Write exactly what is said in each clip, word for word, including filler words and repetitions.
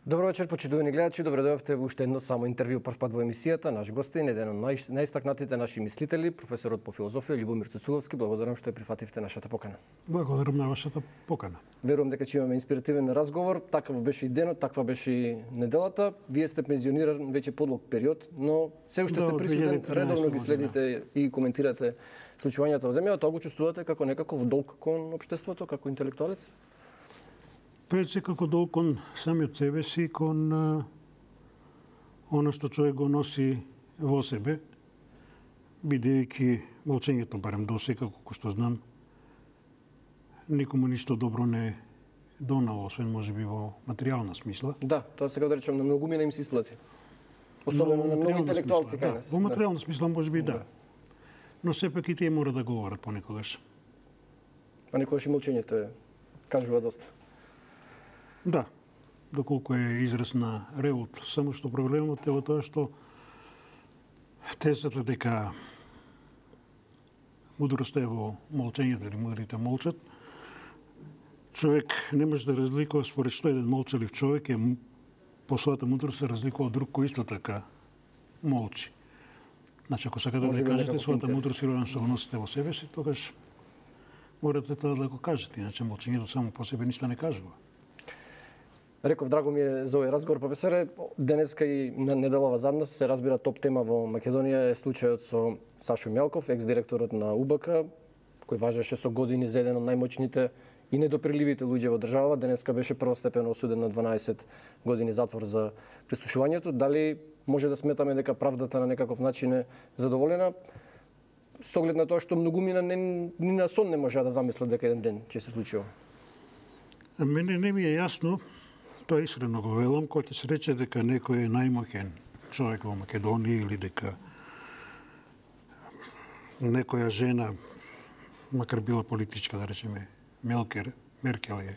Добро вечер, почитувани гледачи. Добре дојавте во уште едно само интервју прв пат во емисијата. Наш гостин, еден од нај, најстакнатите наши мислители, професорот по филозофија Љубомир Цуцуловски. Благодарам што ја прифативте нашата покана. Благодарам на вашата покана. Верувам дека ќе имаме инспиративен разговор. Такав беше и денот, таква беше и неделата. Вие сте пензиониран веќе подлог период, но се уште да, сте присутен, редовно ги следите и коментирате случувањата во земјата. Тоа го чувствувате како некаков долг кон општеството, како интелектуалец? Пред се како долг кон самиот себе си, кон а, оно што човек го носи во себе, бидејќи молчењето, барем досега, колку што знам, никому ништо добро не донало, освен можеби во материјална смисла. Да, тоа сега да речем на многумина им се исплати. Особено на многу интелектуалци кај нас. Да, во материјална смисла можеби да. Но сепак и тие мора да говорат понекогаш. А некогаш и молчењето е кажува доста. Да, доколку е израз на револт, само што проблемот е во тоа што тезата дека мудроста е во молчењето или мудрите молчат, човек не може да разликува според што еден молчалив човек е по својата мудрост се разликува од друг кој исто така молчи. Значи, ако сакате да кажете својата мудрост и роден што го носите во себе си, тогаш морате тоа да го кажете, иначе молчењето само по себе ништо не кажува. Реков, драго ми е за овој разговор, професоре. Денеска и на неделава зад нас се разбира топ тема во Македонија е случајот со Сашо Мјалков, екс-директорот на У Б К, кој важеше со години за еден од најмоćните и недоприливите луѓе во држава. Денеска беше првостепено осуден на дванаесет години затвор за прислушувањето. Дали може да сметаме дека правдата на некаков начин е задоволена? Со оглед на тоа што многумина не, ни на сон не може да замислат дека еден ден ќе се случи ова. Мене не ми е јасно, тоа искрено го велам, кој ќе се рече дека некој е најмоќен човек во Македонија или дека некоја жена, макар била политичка, да речеме, Мелкер, Меркел е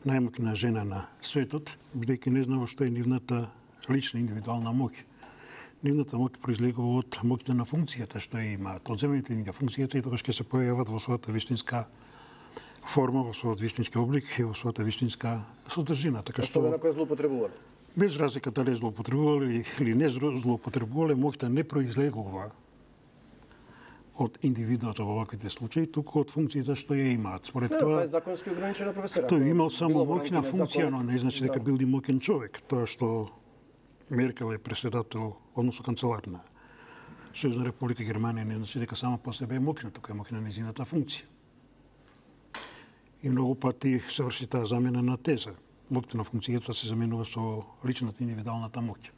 најмоќна жена на светот, бидејќи не знам што е нивната лична индивидуална моќ. Нивната моќ произлегува од моќта на функцијата што ја имаат. Одземајте им ја функцијата и тогаш ќе се појават во својата вистинска форма, во својот вистински облик и во својата вистинска содржина. Така што особено кој злоупотребувал. Без разлика дали е злоупотребувал или не злоупотребувал, моќта не произлегува од индивидуата во ваквите случаи, туку од функцијата што ја имаат. Според не, тоа е законски ограничена, професор. Тој имал само моќна функција, но не значи дека бил и моќен човек. Тоа што Меркел е председател, односно канцелар на Сојузна република Германија, не значи дека само по себе е моќна, туку е моќна нејзината функција. И многу пати се врши таа замена на теза. Моќта на функцијата се заменува со личната индивидуалната моќ.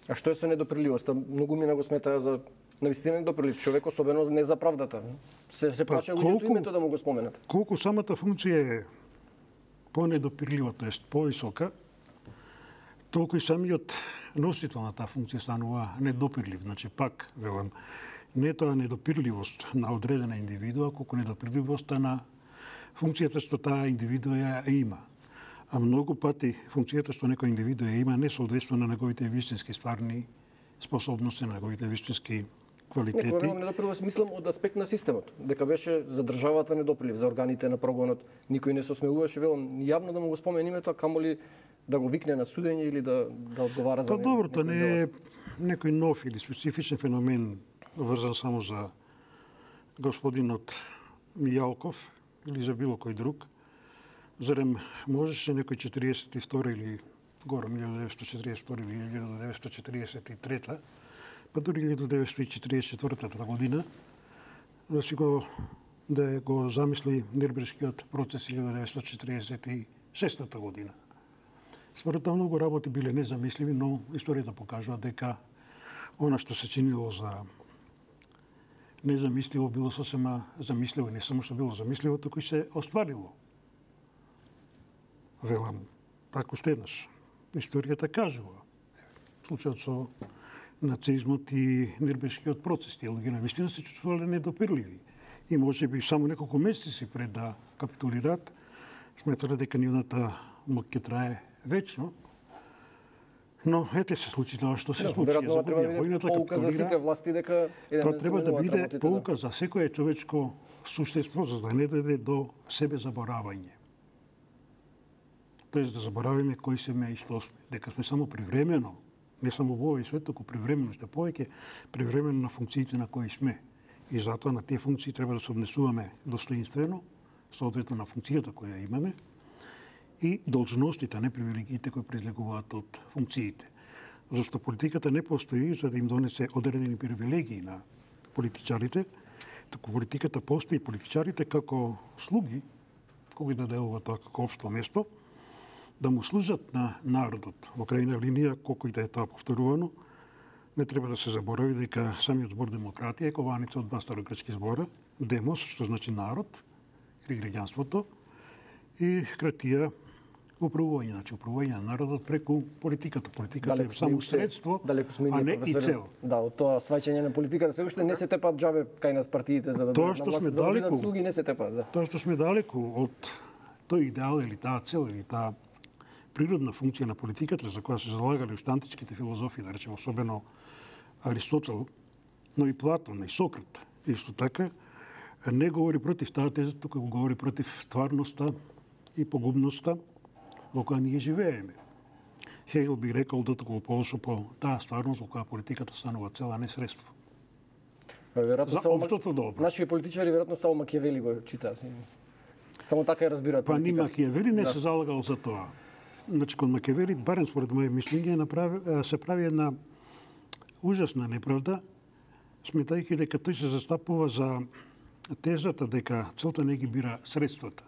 А што е со недоприливоста? Многумина го сметаа за навистина недоприлив човек, особено не за правдата. Се се плаче луѓето името да му го споменат. Колку самата функција е понедопирлива, тоест повисока, толку и самиот носител на таа функција станува недопирлив. Значи пак велам, не е тоа недопирливост на одредена индивидуа, колку недопирливоста на функцијата што таа индивидуа ја има. А многу пати функцијата што некој индивидуа ја има не соодветства на неговите вистински стварни способности, на неговите вистински квалитети. Не, кога недоприлив, мислам од аспект на системот, дека беше за државата недоприлив, за органите на прогонот, никој не се осмелуваше, велам, јавно да му го спомени името, а камоли да го викне на судење или да да одговара за него. Па добро, тоа не е некој нов или специфичен феномен врзан само за господинот Мијалков или за било кој друг. Зарем можеше некој четириесет и втора или горе илјада деветстотини четириесет и втора или илјада деветстотини четириесет и трета, па дури илјада деветстотини четириесет и четвртата година да си го да го замисли Нирнбергскиот процес илјада деветстотини четириесет и шестата година. Според тоа многу работи биле незамисливи, но историјата покажува дека она што се чинило за незамисливо било сосема замисливо, не само што било замисливо, туку и се остварило. Велам, пак уште еднаш, историјата кажува. Случајот со нацизмот и Нирнбергскиот процес, тие луѓе навистина се чувствувале недопирливи. И може би само неколку месеци пред да капитулират, сметале дека нивната моќ ќе трае вечно. Но ете се случи тоа што се случи. Веројатно треба да биде поука за сите власти дека тоа треба да биде поука за секое човечко суштество, за да не дојде до себе заборавање. тоест да заборавиме кои сме и што сме, дека сме само привремено, не само во овој свет, туку привремено, што повеќе привремено на функциите на кои сме. И затоа на тие функции треба да се однесуваме достоинствено, соодветно на функцијата која имаме, и должностите, не привилегиите кои произлегуваат од функциите. Зашто политиката не постои за да им донесе одредени привилегии на политичарите, туку политиката постои политичарите како слуги, кои да делуваат тоа како општо место, да му служат на народот. Во крајна линија, колку и да е тоа повторувано, не треба да се заборави дека самиот збор демократија е кованица од два старогрчки збора, демос, што значи народ, или граѓанството, и кратија, управување, значи управување на народот преку политиката. Политиката далеко е само средство, а не и цел. Да, од тоа сваќање на политиката се уште не се тепат џабе кај нас партиите за да тоа што сме далеку, слуги не се тепат, да. Тоа што сме далеку од тој идеал или таа цел или таа природна функција на политиката за која се залагале уште античките филозофи, да речеме особено Аристотел, но и Платон и Сократ. Исто така не говори против таа теза, туку го говори против стварноста и погубноста во која ние живееме. Хегел би рекол дотоку полошо по таа стварност во која политиката станува цела, не средство. Веројатно за општото добро. Наши политичари веројатно само Макијавели го читаат. Само така ја разбираат. Па ни Макијавели не да. се залагал за тоа. Значи, кон Макијавели, барем според моје мислење, се прави една ужасна неправда, сметајќи дека тој се застапува за тезата дека целта не ги бира средствата.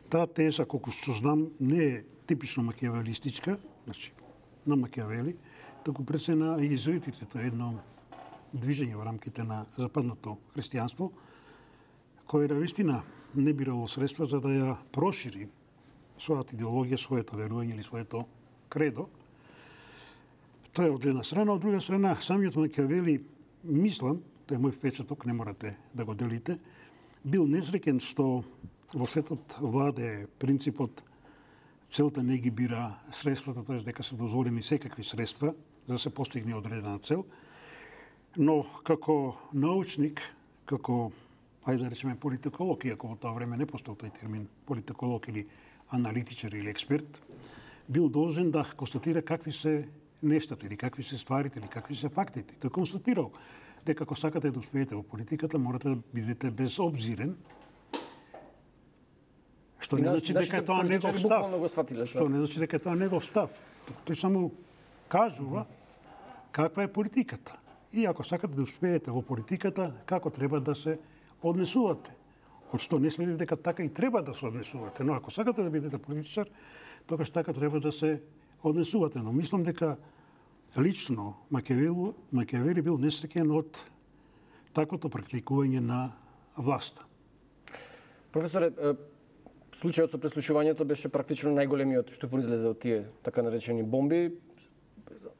Таа теза, колку што знам, не е типично макијавелистичка, значи, на Макијавели, таку пред се на језуитите, тоа е едно движење во рамките на западното христијанство, кое навистина не бирало средства за да ја прошири својата идеологија, своето верување или своето кредо. Тоа е од една страна, од друга страна, самиот Макијавели, мислам, тоа е мој впечаток, не морате да го делите, бил несреќен што во светот владе принципот целта не ги бира средствата, т.е. дека се дозволени секакви средства за да се постигне одредена цел, но како научник, како, ајде да речеме политиколог, иако во тоа време не постоел тој термин политиколог или аналитичар или експерт, бил должен да констатира какви се нештата или какви се стварите или какви се фактите. Тој констатирал дека ако сакате да успеете во политиката, морате да бидете безобзирен, што не значи дека тоа негов став. Што не значи дека тоа негов став. Тој само кажува каква е политиката. И ако сакате да успеете во политиката, како треба да се однесувате. Од што не следи дека така и треба да се однесувате. Но ако сакате да бидете политичар, тогаш така треба да се однесувате. Но мислам дека лично Макијавели бил несреќен од таквото практикување на власта. Професоре, случајот со преслушувањето беше практично најголемиот што произлезе од тие така наречени бомби.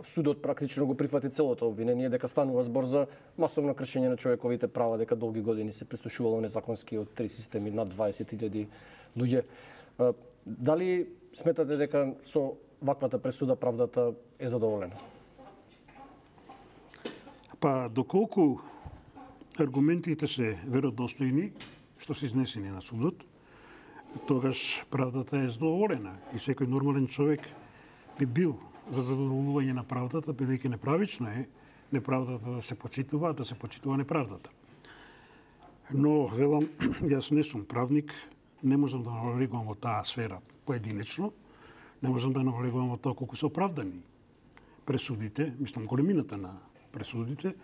Судот практично го прифати целото обвинение дека станува збор за масовно кршење на човековите права, дека долги години се преслушувало незаконски од три системи над дваесет илјади луѓе. Дали сметате дека со ваквата пресуда правдата е задоволена? Па доколку аргументите се веродостојни, што се изнесени на судот, тогаш правдата е задоволена и секој нормален човек би бил за задоволување на правдата, бидејќи неправично е неправдата да се почитува, да се почитува неправдата. Но, велам, јас не сум правник, не можам да навлегувам во таа сфера поединечно, не можам да навлегувам во тоа колку се оправдани пресудите, мислам големината на пресудите,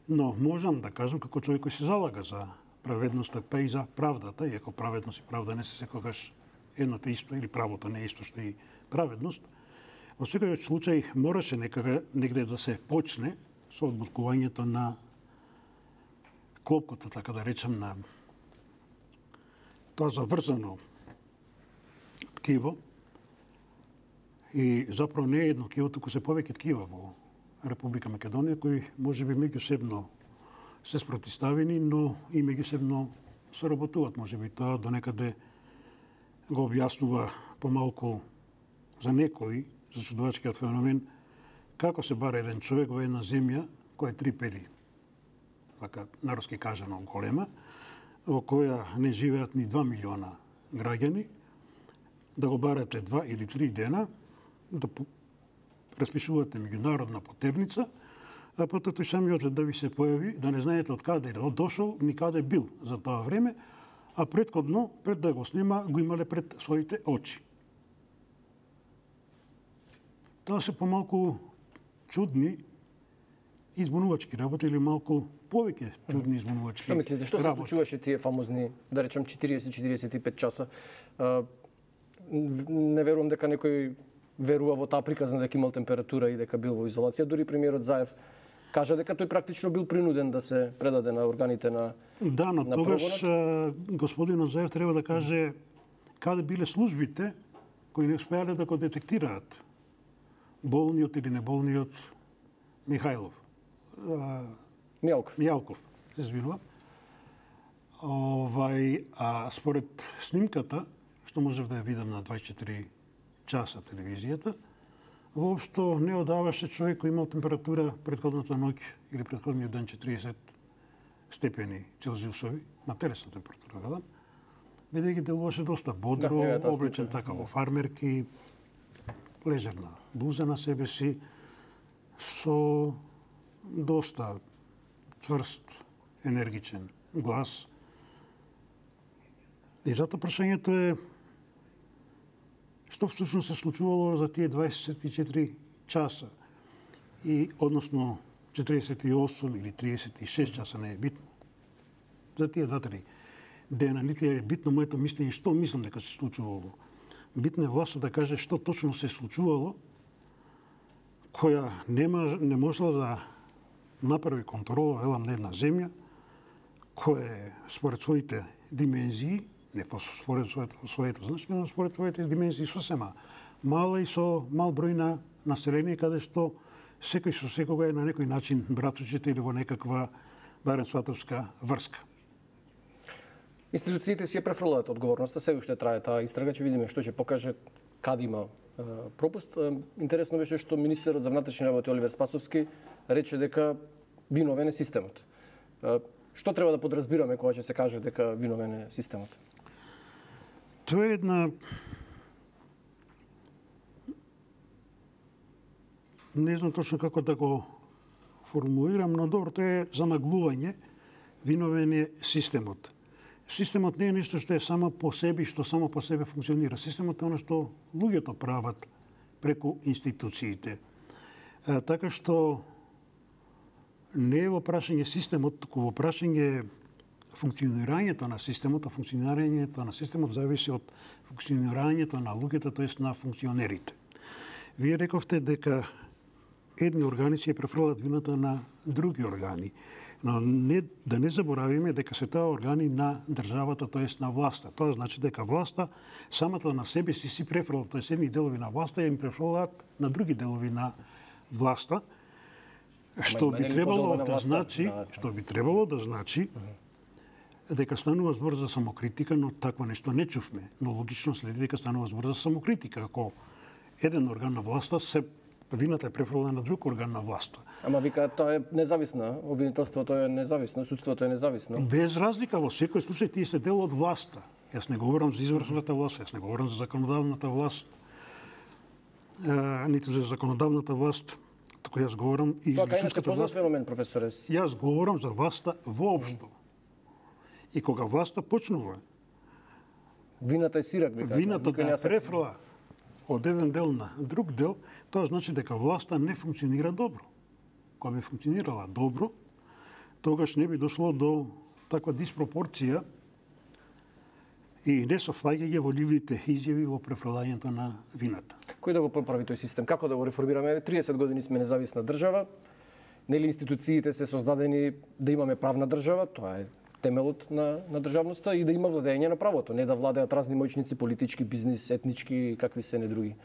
но можам да кажам како човек кој се залага за праведноста, па и за правдата, иако праведност и правда не се секогаш едното исто, или правото не е исто што и праведност. Во секој случај мораше некаде негде да се почне со одбуткувањето на клопкото, така да речем, на тоа заврзано ткиво. И заправо не е едно ткиво, туку се повеќе ткива во Република Македонија, кои можеби меѓусебно се спротиставени, но и меѓусебно соработуваат. Можеби тоа до некаде го објаснува помалку за некои, за чудовачкиот феномен, како се бара еден човек во една земја која е три педи, така народски кажано голема, во која не живеат ни два милиона граѓани, да го барате два или три дена, да распишувате меѓународна потерница, а потоа тој самиот да ви се појави, да не знаете од каде е дошол, ни каде бил за тоа време, а претходно, пред да го снима, го имале пред своите очи. Тоа се помалку чудни избунувачки работи или малку повеќе чудни избунувачки Што мислите, што се случуваше тие фамозни, да речем, четириесет до четириесет и пет часа? А, не верувам дека некој верува во таа приказна дека имал температура и дека бил во изолација. Дури премиерот Заев кажа дека тој практично бил принуден да се предаде на органите на Да, но на тогаш прогонот. господинот Заев треба да каже каде биле службите кои не успеале да го детектираат болниот или неболниот Михајлов. Мјалков. Мјалков, се извинувам. Овај, а според снимката, што можев да ја видам на дваесет и четири часа телевизијата, воопшто не одаваше човек кој имал температура претходната ноќ или претходниот ден четириесет степени Целзиусови, на телесна температура, гадам, бидејќи делуваше доста бодро, Да, облечен така во фармерки, лежерна блуза на себе си, со доста цврст, енергичен глас. И затоа прашањето е што всушност се случувало за тие дваесет и четири часа и односно четириесет и осум или триесет и шест часа, не е битно. За тие два-три дена нити е битно моето мислење што мислам дека се случувало. Битно е власта да каже што точно се случувало, која нема, не можела да направи контрола, велам, на една земја, која е според своите димензии, не според своето, своето значење, но според своите димензии сосема мала и со мал број на население, каде што секој со секога е на некој начин братучите или во некаква барем сватовска врска. Институциите си ја префрлаат одговорноста, се уште трае таа истрага, ќе видиме што ќе покаже каде има е, пропуст. Е, интересно беше што министерот за внатрешни работи Оливер Спасовски рече дека виновен е системот. Е, што треба да подразбираме кога ќе се каже дека виновен е системот? Тоа е една не знам точно како да го формулирам, но добро, тоа е замаглување, виновен е системот. Системот не е нешто што е само по себе, што само по себе функционира. Системот е оно што луѓето прават преку институциите. А, така што не е во прашање системот, туку во прашање функционирањето на системот, а функционирањето на системот зависи од функционирањето на луѓето, тоест на функционерите. Вие рековте дека едни органи си ја префрлат вината на други органи. Но не, да не заборавиме дека се тоа органи на државата, тоест на власта. Тоа значи дека власта самата на себе си си префрлат, тоест едни делови на власта им префрлаат на други делови на власта, што би требало да значи, што би требало да значи дека станува збор за самокритика, но такво нешто не чувме. Но логично следи дека станува збор за самокритика. Ако еден орган на власта се вината е префрлена на друг орган на власта. Ама вика, тоа е независно, обвинителството е независно, судството е независно. Без разлика, во секој случај тие се дел од власта. Јас не говорам за извршната власт, јас не говорам за законодавната власт, а, ниту за законодавната власт, туку јас говорам и Тоа кај не се судската познат власт. феномен, професоре. Јас говорам за власта воопшто. И кога власта почнува, Вината е сирак, вика. вината никој не да ја се- префрла од еден дел на друг дел, тоа значи дека власта не функционира добро. Кога би функционирала добро, тогаш не би дошло до таква диспропорција и несофаѓање во ливите изјави во префрлањето на вината. Кој да го поправи тој систем? Како да го реформираме? триесет години сме независна држава. Нели институциите се создадени да имаме правна држава, тоа е темелот на, на државноста и да има владење на правото, не да владеат разни моćници, политички, бизнис, етнички и какви се не други.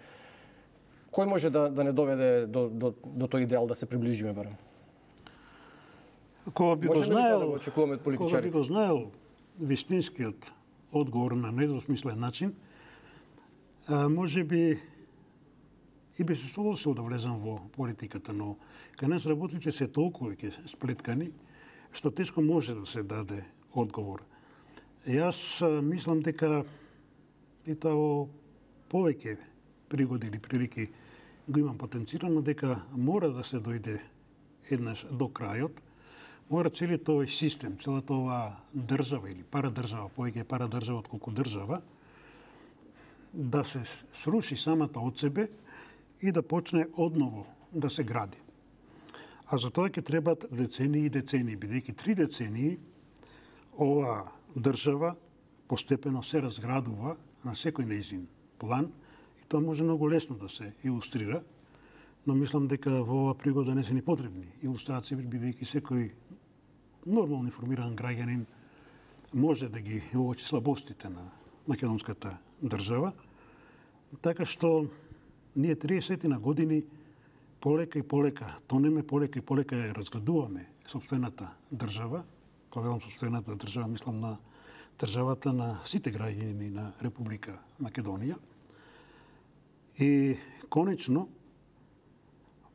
Кој може да, да не доведе до, до, до тој идеал да се приближиме барем? Кога би го Можеме ли знаел, да го очекуваме од кога би политичарите? го знаел вистинскиот одговор на недвосмислен начин, а, може би и би се согласил да влезам во политиката, но кај нас работите се толку веќе сплеткани, што тешко може да се даде одговор. Јас а, мислам дека и тоа во повеќе пригоди или прилики го имам потенцирано, дека мора да се дојде еднаш до крајот, мора целиот овој систем, целата оваа држава или парадржава, повеќе парадржава отколку држава, да се сруши самата од себе и да почне одново да се гради. А за тоа ќе требат децении и децении, бидејќи три децении оваа држава постепено се разградува на секој нејзин план и тоа може многу лесно да се илустрира, но мислам дека во оваа пригода не се ни потребни илустрации, бидејќи секој нормално информиран граѓанин може да ги уочи слабостите на македонската држава, така што ние триесет години полека и полека тонеме, полека и полека ја разградуваме сопствената држава. Кога велам сопствената држава, мислам на државата на сите граѓани на Република Македонија. И конечно,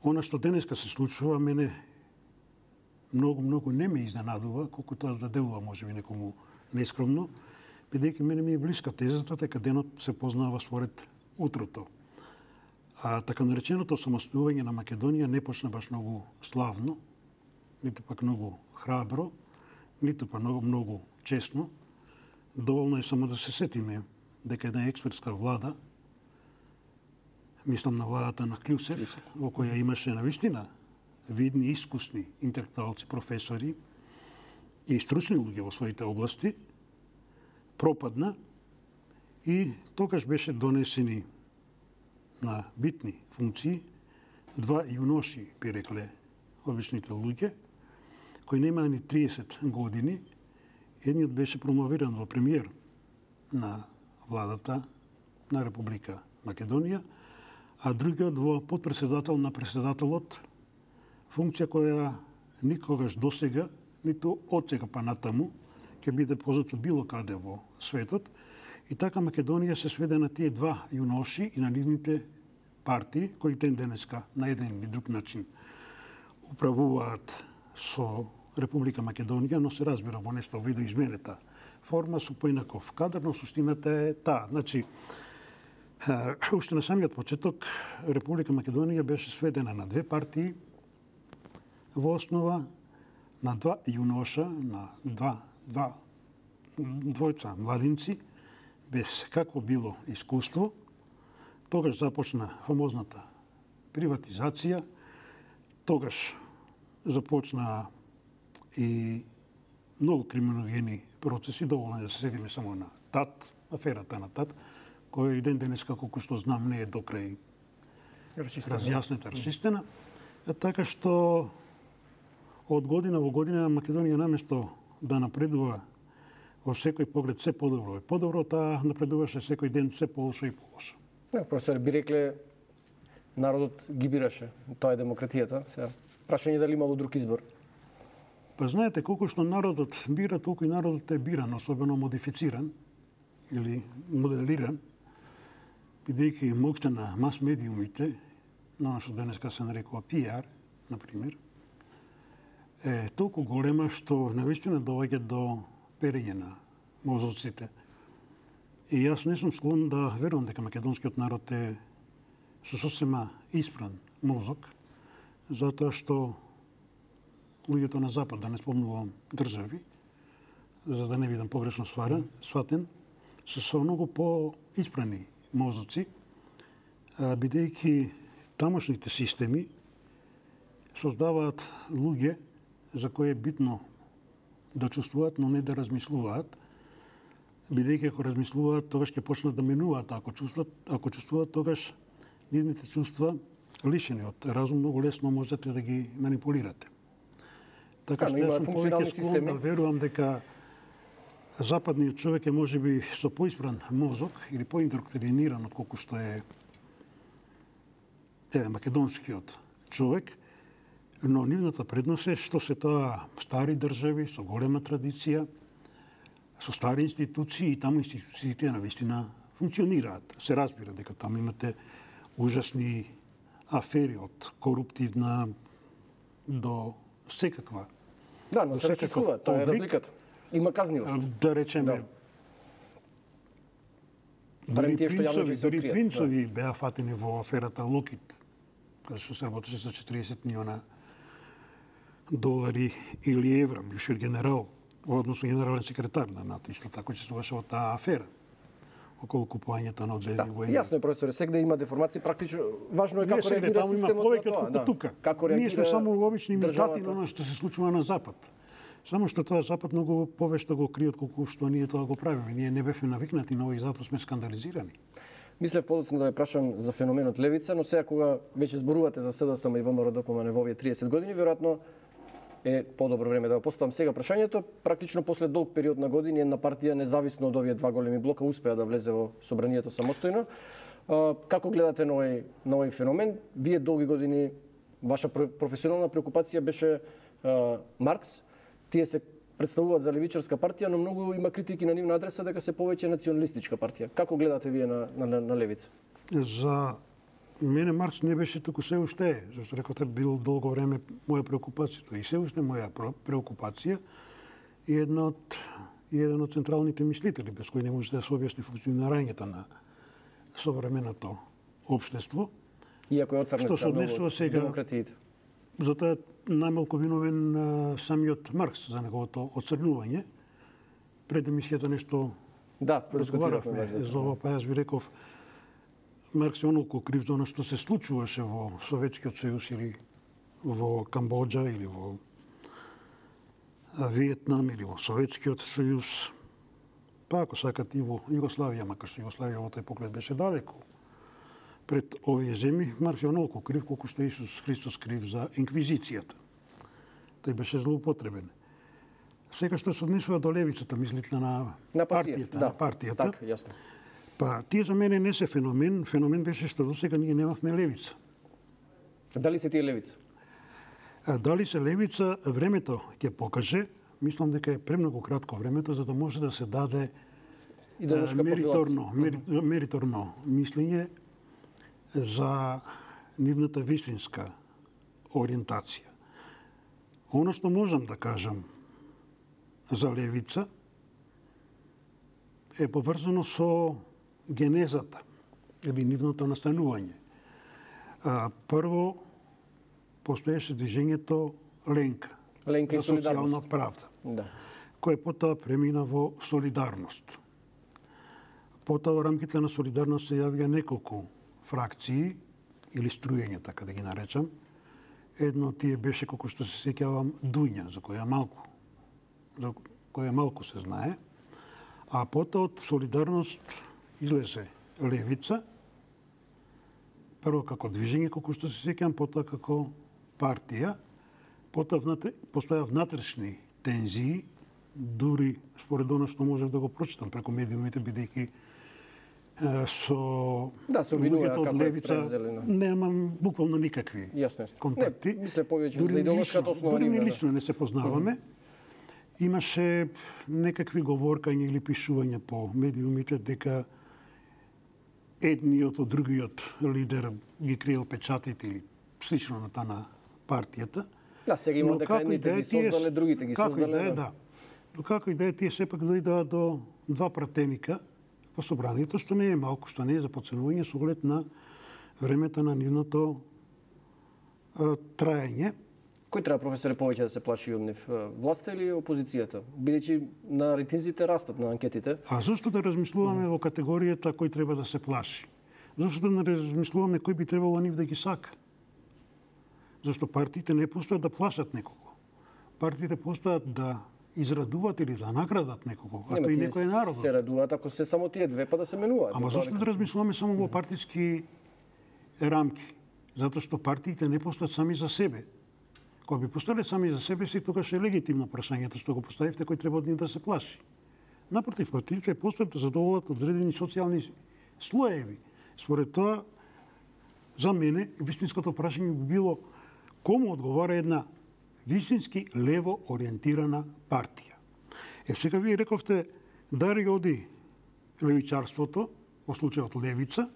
она што денеска се случува, мене многу, многу не ме изненадува, колку тоа да делува можеби некому нескромно, бидејќи мене ми е блиска тезата, дека денот се познава според утрото. А така нареченото самостојување на Македонија не почна баш многу славно, ниту пак многу храбро, ниту пак многу, многу честно. Доволно е само да се сетиме дека една експертска влада, мислам на владата на Клюсев, во која имаше навистина видни, искусни интелектуалци, професори и стручни луѓе во своите области, пропадна и тогаш беше донесени на битни функции два јуноши, би рекле обичните луѓе, кои немаа ни триесет години. Едниот беше промовиран во премиер на владата на Република Македонија, а другиот во подпредседател на председателот, функција која никогаш досега, ниту од сега па натаму, ќе биде позната било каде во светот. И така Македонија се сведе на тие два јуноши и на нивните партии, кои ден денеска на еден или друг начин управуваат со Република Македонија, но се разбира во нешто видоизменета форма со поинаков кадар, но суштината е таа. Значи, уште на самиот почеток Република Македонија беше сведена на две партии, во основа на два јуноша, на два, два двојца младинци, без какво било искуство. Тогаш започна фамозната приватизација, тогаш започна и многу криминогени процеси, доволно е да се седиме само на ТАТ, аферата на ТАТ, која и ден денеска, колку што знам, не е докрај разјаснета, расчистена. Така што од година во година Македонија наместо да напредува во секој поглед се подобро и подобро, таа напредуваше секој ден се полошо и полошо. Да, професор, би рекле народот ги бираше. Тоа е демократијата. Сега, прашање дали имало друг избор? Па знаете, колку што народот бира, толку и народот е биран, особено модифициран или моделиран, бидејќи моќта на мас-медиумите, на оно што денеска се нарекува пи ар, например, е толку голема што навистина доаѓа до перење на мозоците. И јас не сум склон да верувам дека македонскиот народ е со сосема испран мозок, затоа што луѓето на Запад, да не спомнувам држави, за да не бидам погрешно сватен, се со многу по-испрани мозоци, бидејќи тамошните системи создаваат луѓе за кои е битно да чувствуваат, но не да размислуваат, бидејќи ако размислуваат, тогаш ќе почнат да менуваат, ако чувствуваат, ако чувствуваат, тогаш нивните чувства лишени од разум многу лесно можете да ги манипулирате. Така што јас сум повеќе склон да верувам дека западниот човек е можеби со поиспран мозок или поиндоктриниран од колку што е е македонскиот човек, но нивната предност е што се тоа стари држави со голема традиција, со стари институции и таму институциите навистина функционираат. Се разбира дека таму имате ужасни афери од коруптивна до секаква. Да, но се речекува, тоа е разликата. Има казнивост. Да речеме, да. барем тие што јавно ќе се Дури откријат. принцови беа фатени во аферата Локит, каде што се работеше за четириесет милиона долари или евра, бившиот генерал, односно генерален секретар на НАТО, исто така учествуваше во таа афера околу купувањето на одредени Да, воени. јасно е, професоре, сегде има деформации, практично важно е Не како сегде, реагира таму има системот повеќе на тоа. отколку Да. тука. Како Ние сме реагира само обични имитати државата. на она што се случува на Запад. Само што тоа Запад многу повешто го крие отколку што ние тоа го правиме. Ние не бевме навикнати на ово и затоа сме скандализирани. Мислев подоцна да ве прашам за феноменот левица, но сега кога веќе зборувате за СДСМ и ВМРО-ДПМН во овие триесет години, веројатно е подобро време да го поставам сега прашањето. Практично после долг период на години една партија независно од овие два големи блока успеа да влезе во собранието самостојно. А, како гледате на овој на овој феномен? Вие долги години ваша професионална преокупација беше а, Маркс. Тие се представуваат за левичарска партија, но многу има критики на нивна адреса дека се повеќе националистичка партија. Како гледате вие на на, на левица? За мене Маркс не беше туку се уште е, зашто рекоте бил долго време моја преокупација, и се уште моја преокупација и една од и еден од централните мислители без кои не може да се објасни функционирањето на современото општество. Иако е оцрнет Што се за однесува многу сега- демократиите. Затоа е најмалку виновен а, самиот Маркс за неговото оцрнување. Пред емисијата нешто Да, продискутиравме разговаравме за ова, па јас ви реков Маркс е онолку крив за оно што се случуваше во Советскиот сојуз или во Камбоџа или во Виетнам или во Советскиот сојуз, па ако сакат и во Југославија, макар што Југославија во тој поглед беше далеку пред овие земји, Маркс е онолку крив колку што Исус Христос крив за инквизицијата. Тој беше злоупотребен. Сега што се однесува до левицата, мислите на, На пасија, партијата, да. на партијата. Така, јасно. Па, тие за мене не се феномен. Феномен беше што до сега ние немавме левица. Дали се тие левица? А дали се левица, времето ќе покаже. Мислам дека е премногу кратко времето за да може да се даде Идеолошка мериторно, мери, мериторно мислење за нивната вистинска ориентација. Оно што можам да кажам за левица е поврзано со генезата или нивното настанување. А, прво, постоеше движењето Ленка, Ленка и за солидарност. социјална правда, Да. кој потоа премина во солидарност. Потоа во рамките на солидарност се јавија неколку фракции или струјења, така да ги наречам. Едно од тие беше, колку што се сеќавам, Дуња, за која малку, за која малку се знае. А потоа од солидарност излезе левица, прво како движење, колку што се сеќавам, потоа како партија, потоа внатре, постоја внатрешни тензии, дури според оно што можев да го прочитам преку медиумите, бидејќи е, со Да, се обвинува луѓето од како е левица превзелено. немам буквално никакви Јасно е. контакти. Не, мисле повеќе Дури за ни идеолошката лично- основа Дури ни нивна, да. лично не се познаваме. Имаше некакви говоркања или пишувања по медиумите дека едниот од другиот лидер ги криел печатите или слично на таа на партијата. Да, сега има Но дека како и едните да е, ги тие- создале, другите ги како и создале. да е, да. Но како и да е, тие сепак дојдоа до два пратеника по собранието, што не е малку, што не е за подценување со оглед на времето на нивното а, траење. Кој треба, професоре, повеќе да се плаши од нив? Власта или опозицијата? Бидејќи на рейтинзите растат на анкетите. А зошто да размислуваме во категоријата кој треба да се плаши? Зошто да не размислуваме кој би требало нив да ги сака? Зашто партиите не постојат да плашат некого. Партиите постојат да израдуваат или да наградат некого, а Нема, тој тие некој е народот. се радуваат ако се само тие две, па да се менуваат. Ама Тоа зашто дека- да размислуваме само во партиски рамки? Затоа што партиите не постојат сами за себе. Кога би постоеле сами за себе си, тогаш е легитимно прашањето што го поставивте, кој треба од нив да се плаши. Напротив, партиите постојат да задоволат одредени социјални слоеви. Според тоа, за мене, вистинското прашање би било кому одговара една вистински лево ориентирана партија. Е, сега вие рековте дари оди левичарството, во случајот левица,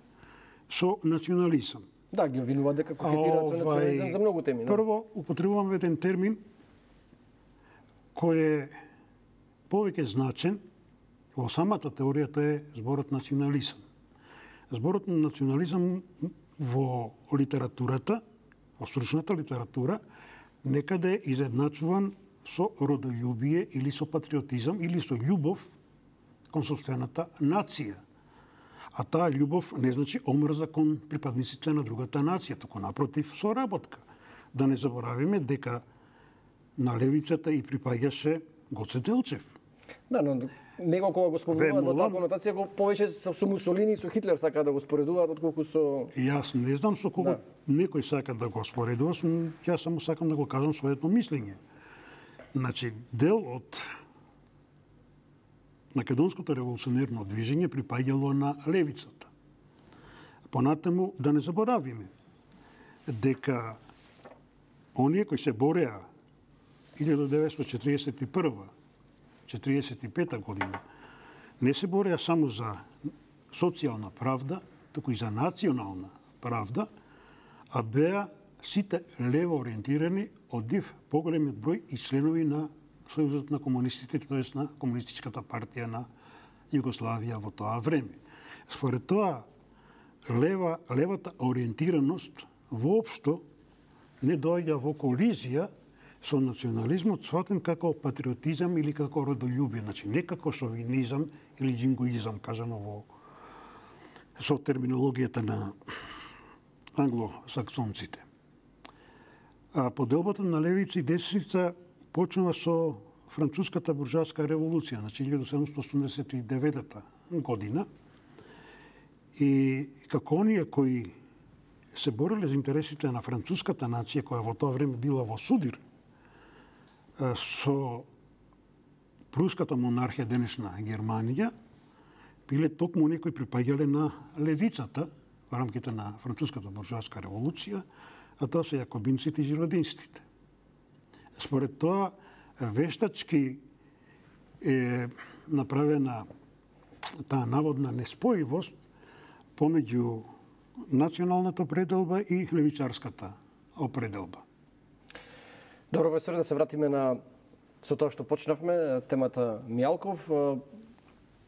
со национализам. Да, ги обвинуваат дека кокетираат со национализам за многу теми. Да? Прво, употребуваме еден термин кој е повеќе значен во самата теорија, тоа е зборот национализам. зборот на национализам во литературата, во стручната литература, некаде е изедначуван со родолюбие или со патриотизам или со љубов кон сопствената нација. А таа љубов не значи омрза кон припадниците на другата нација, туку напротив соработка. Да не заборавиме дека на левицата и припаѓаше Гоце Делчев. Да, но него кога го спомнуваат во таа конотација, го повеќе со Мусолини и со Хитлер сака да го споредуваат отколку со... Јас не знам со кого да. некој сака да го споредува, јас само сакам да го кажам своето мислење. Значи, дел од македонското револуционерно движење припаѓало на левицата. Понатаму, да не заборавиме дека оние кои се бореа илјада деветстотини четиридесет и прва четиридесет и пета година не се бореа само за социјална правда, туку и за национална правда, а беа сите лево ориентирани од див поголемиот број и членови на Сојузот на комунистите, тоест на Комунистичката партија на Југославија во тоа време. Според тоа, лева, левата ориентираност воопшто не доаѓа во колизија со национализмот, сватен како патриотизам или како родолюбие, значи не како шовинизам или джингоизам, кажано во со терминологијата на англосаксонците. А поделбата на левица и десница почнува со француската буржоаска револуција, значи илјада седумстотини осумдесет и девета година. И како оние кои се бореле за интересите на француската нација, која во тоа време била во судир со пруската монархија, денешна Германија, биле токму оние кои припаѓале на левицата во рамките на француската буржоаска револуција, а тоа се јакобинците и жиродинците. Според тоа, вештачки е направена таа наводна неспојивост помеѓу националната определба и левичарската определба. Добро, професор, да се вратиме на со тоа што почнавме, темата Мијалков.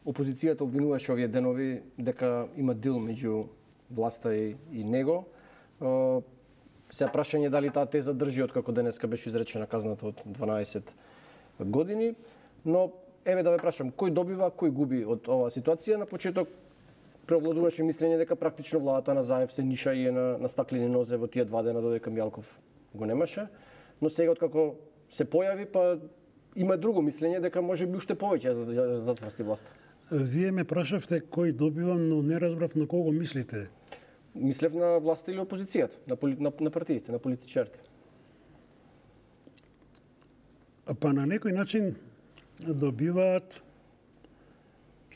Опозицијата обвинуваше овие денови дека има дил меѓу власта и, и него. Сега прашање дали таа теза држи откако денеска беше изречена казната од дванаесет години, но еве да ве прашам, кој добива, кој губи од оваа ситуација? На почеток преовладуваше мислење дека практично владата на Заев се ниша и е на, на стаклени нозе во тие два дена додека Мијалков го немаше, но сега откако се појави, па има друго мислење дека може би уште повеќе за затврсти власта. Вие ме прашавте кој добивам, но не разбрав на кого мислите. Мислев на власта или опозицијата, на, поли, на, на партиите, на политичарите. Па на некој начин добиваат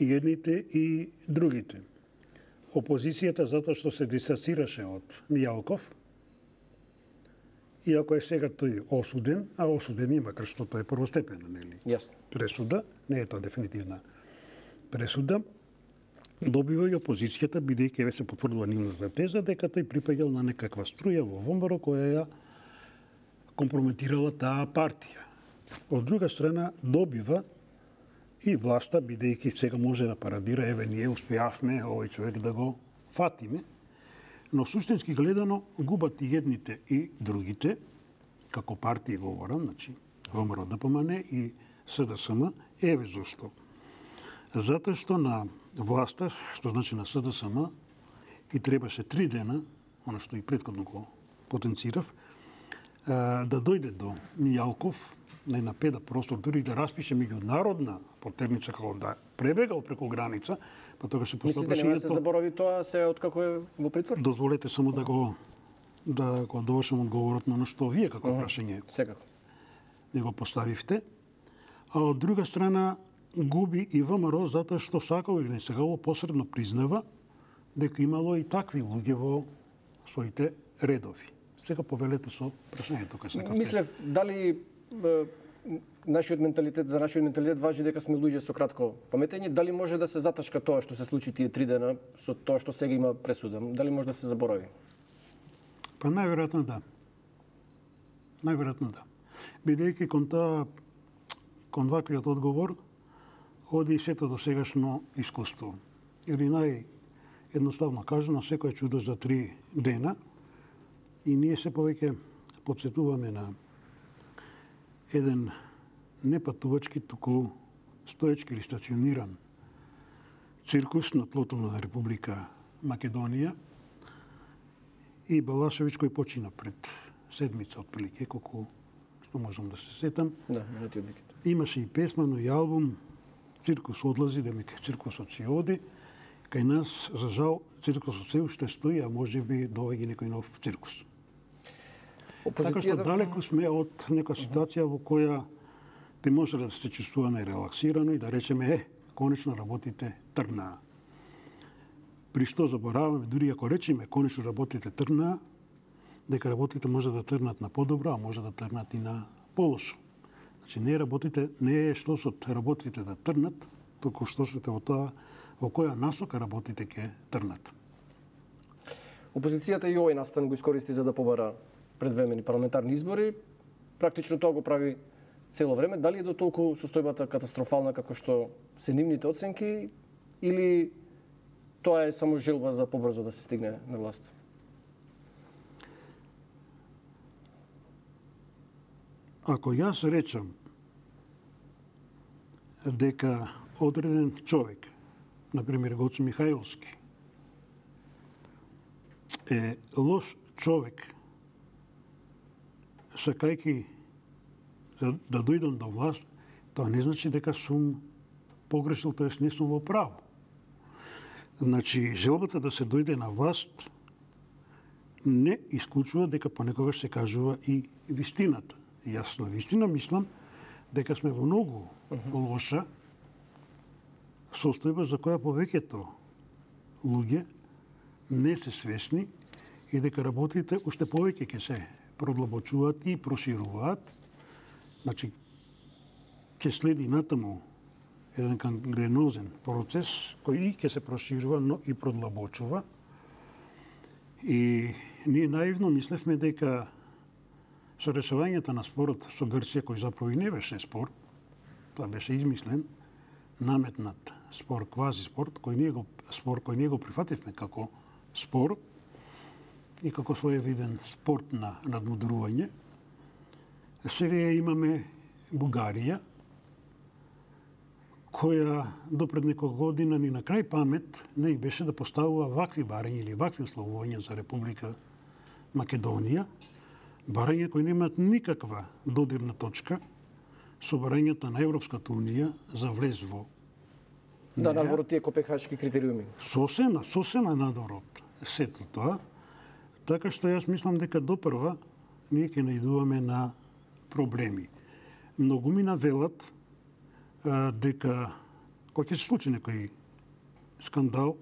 и едните и другите. Опозицијата затоа што се дистанцираше од Мијалков, иако е сега тој осуден, а осуден има, макар што тоа е првостепена, нели? Јасно. Пресуда, не е тоа дефинитивна пресуда, добива и опозицијата, бидејќи се потврдува нивната теза дека тој припаѓал на некаква струја во ВМРО која ја компрометирала таа партија. Од друга страна добива и власта, бидејќи сега може да парадира, еве ние успеавме овој човек да го фатиме, но суштински гледано губат и едните и другите, како партии говорам, значи ВМРО Д П М Н и С Д С М, еве зошто. Затоа што на власта, што значи на С Д С М, и требаше три дена, оно што и претходно го потенцирав, да дојде до Мијалков, на една педа простор, дури да распише меѓународна потерница, како да пребегал преку граница, па тогаш се поставаше... Мислите, нема да се заборави тоа се откако е во притвор? Дозволете само да го да го довршам одговорот на што вие како uh -huh. прашање секако не го поставивте. А од друга страна губи и ВМРО затоа што сакало или не сакало посредно признава дека имало и такви луѓе во своите редови. Сега повелете со прашањето кај сакавте. Мислев, дали е, нашиот менталитет, за нашиот менталитет важи дека сме луѓе со кратко паметење, дали може да се заташка тоа што се случи тие три дена со тоа што сега има пресуда? Дали може да се заборави? Па најверојатно да. Најверојатно да. Бидејќи кон тоа, кон ваквиот одговор, оди и сето до сегашно искуство. Или едноставно кажано, секој чудо за три дена и ние се повеќе подсетуваме на еден не патувачки, туку стоечки или стациониран циркус на тлото на Република Македонија и Балашевиќ кој почина пред седмица отприлike, колку што можам да се сетам. Да, минатиот викенд. Имаше и песма, но и албум Циркус одлази, демек циркусот си оди. Кај нас, за жал, циркусот се уште стои, а може би доаѓа некој нов циркус. Така што далеку сме од нека ситуација во која те може да се чувствуваме релаксирано и да речеме, е, конечно работите трнаа. При што забораваме, дури ако речеме конечно работите трнаа, дека работите може да трнат на подобро, а може да трнат и на полошо. Значи не работите, не е што сот работите да трнат, туку што сте во тоа во која насока работите ќе трнат. Опозицијата и овој настан го искористи за да побара предвремени парламентарни избори. Практично тоа го прави цело време. Дали е до толку состојбата катастрофална како што се нивните оценки или тоа е само желба за побрзо да се стигне на власт? Ако јас речам дека одреден човек, например Гоцо Михајловски, е лош човек, сакајќи да, да дојдам до власт, тоа не значи дека сум погрешил, тоест не сум во право. Значи, желбата да се дојде на власт не исклучува дека понекогаш се кажува и вистината. Јас на вистина мислам дека сме во многу лоша состојба за која повеќето луѓе не се свесни и дека работите уште повеќе ќе се продлабочуваат и прошируваат. Значи, ќе следи натаму еден гангренозен процес кој и ќе се проширува, но и продлабочува. И ние наивно мислевме дека со решавањето на спорот со Грција, кој заправо и не беше спор, тоа беше измислен, наметнат спор, квази спор, кој ние го, спор кој ние го прифативме како спор и како своевиден спорт на надмудрување. Сега имаме Бугарија, која допред неколку година ни на крај памет не и беше да поставува вакви барања или вакви условувања за Република Македонија, барања кои немаат никаква додирна точка со барањата на Европската унија за влез во Да, надвор од тие копенхашки критериуми. Сосема, сосема надвор од сето тоа. Така што јас мислам дека допрва ние ќе наидуваме на проблеми. Многумина велат а, дека кога ќе се случи некој скандал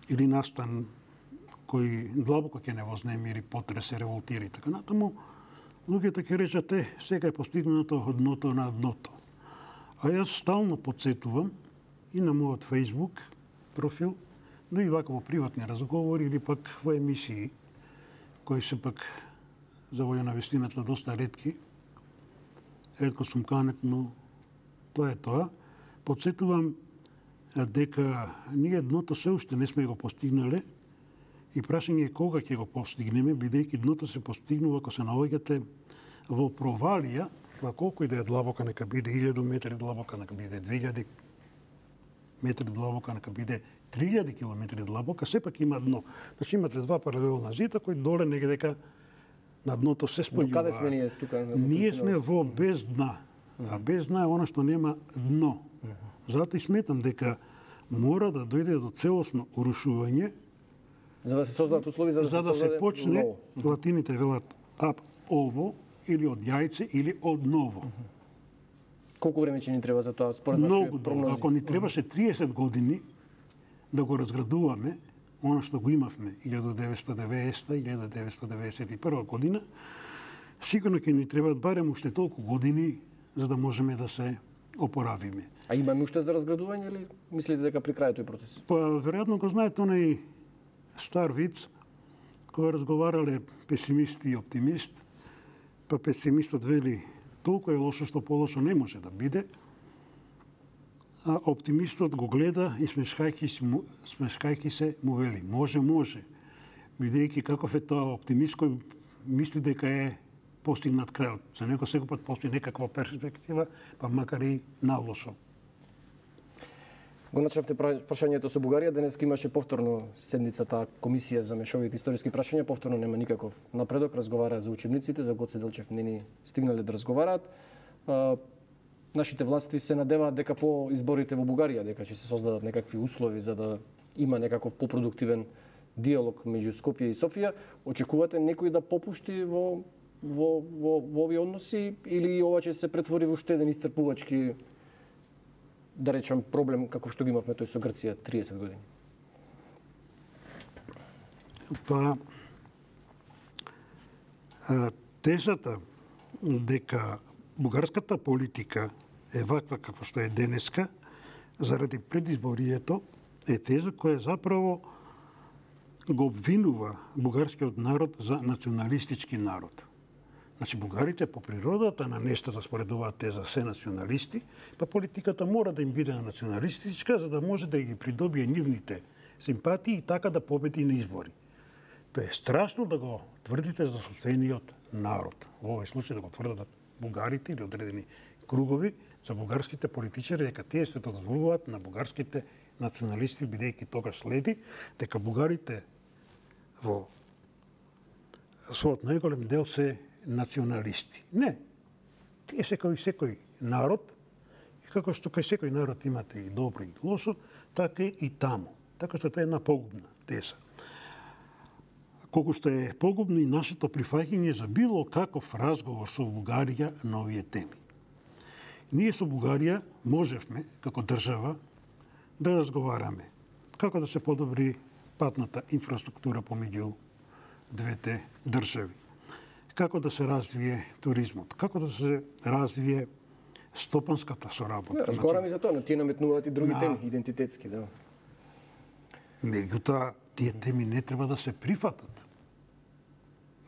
или настан кој длабоко ќе не вознемири, потресе, револтира и така натаму, луѓето ќе речат, е, сега е постигнато од дното на дното. А јас стално подсетувам и на мојот Facebook профил, но и вака во приватни разговори или пак во емисии, кои се пак за волја на вистината доста ретки. Ретко сум канет, но тоа е тоа. Подсетувам дека ние дното се уште не сме го постигнале и прашање е кога ќе го постигнеме, бидејќи дното се постигнува ако се наоѓате во провалија, во колку и да е длабока, нека биде илјаду метри длабока, нека биде две илјади метри длабока, нека биде три илјади километри длабока, сепак има дно. Значи имате два паралелна зида кои доле негде дека на дното се спојуваат. До каде сме ние тука? Ние сме во без дна, а без дна е она што нема дно. Затоа и сметам дека мора да дојде до целосно урушување, за да се создадат услови за да, за да се, се почне, ново. латините велат ап ово, или од јајце, или од ново. Колку време ќе ни треба за тоа, според Многу вашите прогнози? Ако ни требаше триесет години да го разградуваме, она што го имавме илјада деветстотини и деветдесета - илјада деветстотини и деветдесет и прва година, сигурно ќе ни требаат барем уште толку години за да можеме да се опоравиме. А имаме уште за разградување или мислите дека при крај тој процес? Па, веројатно го знаете онај стар виц, кој разговарале песимист и оптимист, па песимистот вели толку е лошо што полошо не може да биде, а оптимистот го гледа и смешкајќи се, смешкајќи се му вели: може, може. Бидејќи каков е тоа оптимист кој мисли дека е постигнат крајот. За него секој пат постои некаква перспектива, па макар и налошо. Го начнавте прашањето со Бугарија, денес имаше повторно седницата комисија за мешовите историски прашања, повторно нема никаков напредок, разговара за учебниците, за Гоце Делчев не ни стигнале да разговараат. А, нашите власти се надеваат дека по изборите во Бугарија, дека ќе се создадат некакви услови за да има некаков попродуктивен диалог меѓу Скопје и Софија. Очекувате некој да попушти во во во, во овие односи или ова ќе се претвори во уште еден исцрпувачки, да речем, проблем како што го имавме тој со Грција триесет години? Па, тезата дека бугарската политика е ваква како што е денеска заради предизборието е теза која заправо го обвинува бугарскиот народ за националистички народ. Значи, бугарите по природата на нештото според оваа теза се националисти, па политиката мора да им биде националистичка за да може да ги придобие нивните симпатии и така да победи на избори. Тоа е страшно да го тврдите за собствениот народ. Во овој случај да го тврдат бугарите или одредени кругови за бугарските политичари дека тие се дозволуваат на бугарските националисти, бидејќи тогаш следи дека бугарите во својот најголем дел се националисти. Не. Тие се кој секој народ, и како што кај секој народ имате и добро и лошо, така и таму. Така што тоа е една погубна теза. Колку што е погубно и нашето прифаќање за било каков разговор со Бугарија на овие теми. Ние со Бугарија можевме, како држава, да разговараме како да се подобри патната инфраструктура помеѓу двете држави, како да се развие туризмот, како да се развие стопанската соработка. Разговараме за тоа, но тие наметнуваат и други на... теми, идентитетски, да. Меѓутоа, тие теми не треба да се прифатат.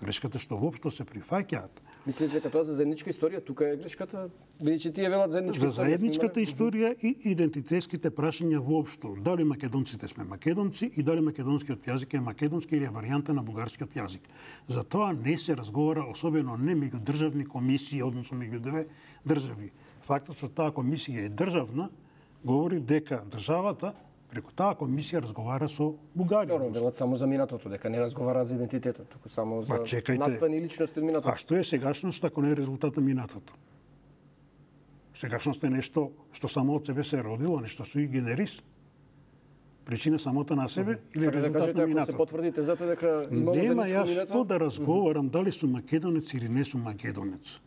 Грешката што воопшто се прифаќаат. Мислите дека тоа за заедничка историја, тука е грешката, бидејќи тие велат заедничка историја. За заедничката историја, историја и идентитетските прашања воопшто. Дали македонците сме македонци и дали македонскиот јазик е македонски или е варијанта на бугарскиот јазик. За тоа не се разговара, особено не меѓу државни комисии, односно меѓу две држави. Фактот што таа комисија е државна говори дека државата преку таа комисија разговара со Бугарија. Добро, велат само за минатото, дека не разговараат за идентитетот, туку само за чекајте, наствани личности од минатото. А што е сегашност ако не е резултат на минатото? Сегашност е нешто што само од себе се родило, нешто суи генерис. Причина самото на себе mm-hmm. или Сака резултат да кажете, на минатото? ако се потврдите зате дека имало Нема заедничко јас минато? што да разговарам дали сум македонец или не сум македонец.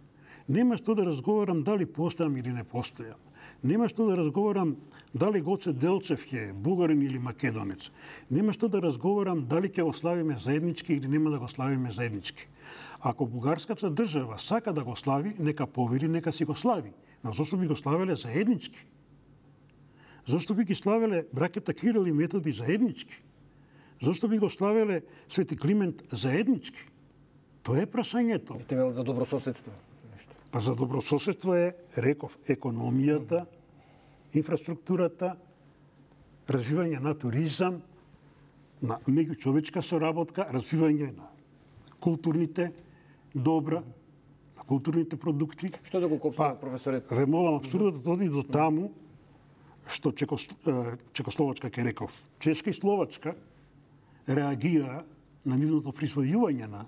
Нема што да разговарам дали постојам или не постојам. Нема што да разговарам дали Гоце Делчев е бугарин или македонец. Нема што да разговарам дали ќе го славиме заеднички или нема да го славиме заеднички. Ако бугарската држава сака да го слави, нека повели, нека си го слави. Но зошто би го славеле заеднички? Зошто би ги славеле браќата Кирил и Методи заеднички? Зошто би го славеле Свети Климент заеднички? Тоа е прашањето. Те велат за добрососедство. Па за добрососедство е, реков, економијата, инфраструктурата, развивање на туризам, на меѓучовечка соработка, развивање на културните добра, на културните продукти. Што да го копсува, па, професорет? Ве молам, абсурдот оди до таму што Чекос, Чекословачка, ке реков, Чешка и Словачка реагира на нивното присвојување на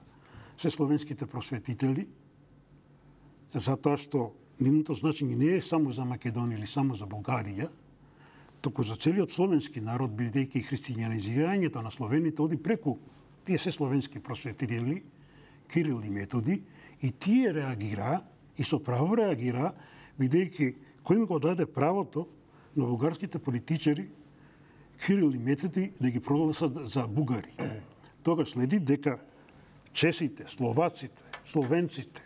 се словенските просветители, затоа што нивното значење не е само за Македонија или само за Бугарија, туку за целиот словенски народ, бидејќи христијанизирањето на словените оди преку тие се словенски просветители, Кирил и Методи, и тие реагира, и со право реагира, бидејќи кој им го даде правото на бугарските политичари Кирил и Методи да ги прогласат за бугари. Тогаш следи дека чесите, словаците, словенците,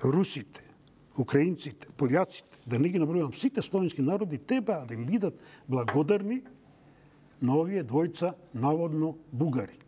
русите, украинците, пољаците, да не ги набројувам сите словенски народи, треба да им бидат благодарни на овие двојца наводно бугари.